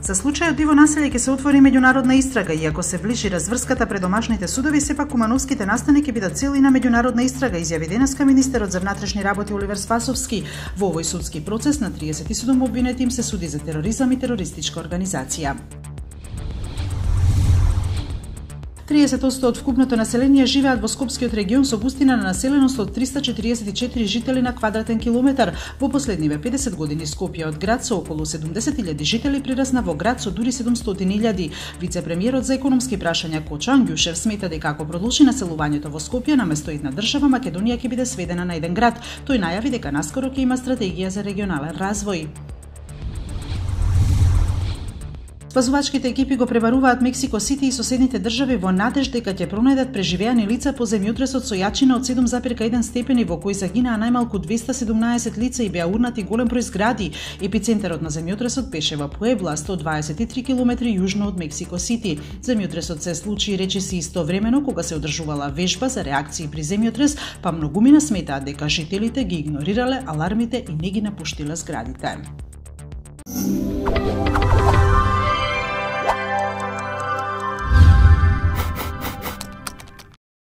За случајот диво населје ќе се отвори меѓународна истрага, иако се ближи разврската пред домашните судови, сепак кумановските настани ќе бидат цели на меѓународна истрага, изјави денеска министерот за внатрешни работи Оливер Спасовски. Во овој судски процес на 37 обвинети им се суди за тероризам и терористичка организација. 30% од вкупното население живеат во Скопскиот регион со густина на населеност од 344 жители на квадратен километар. Во последниве 50 години Скопје од град со околу 70.000 жители прирасна во град со дури 700.000. Вице-премиерот за економски прашања Кочо Ангјушев смета дека ако продолжи населувањето во Скопје, наместо една држава, Македонија ќе биде сведена на еден град. Тој најави дека наскоро ќе има стратегија за регионален развој. Спасувачките екипи го пребаруваат Мексико Сити и соседните држави во надеж дека ќе пронајдат преживеани лица по земјотресот со јачина од 7,1 степени во кој загинаа најмалку 217 лица и беа урнати голем број згради. Епицентарот на земјотресот беше во Пуебла, 123 км јужно од Мексико Сити. Земјотресот се случи речиси истовремено кога се одржувала вежба за реакции при земјотрес, па многумина сметаат дека жителите ги игнорирале алармите и не ги напуштиле зградите.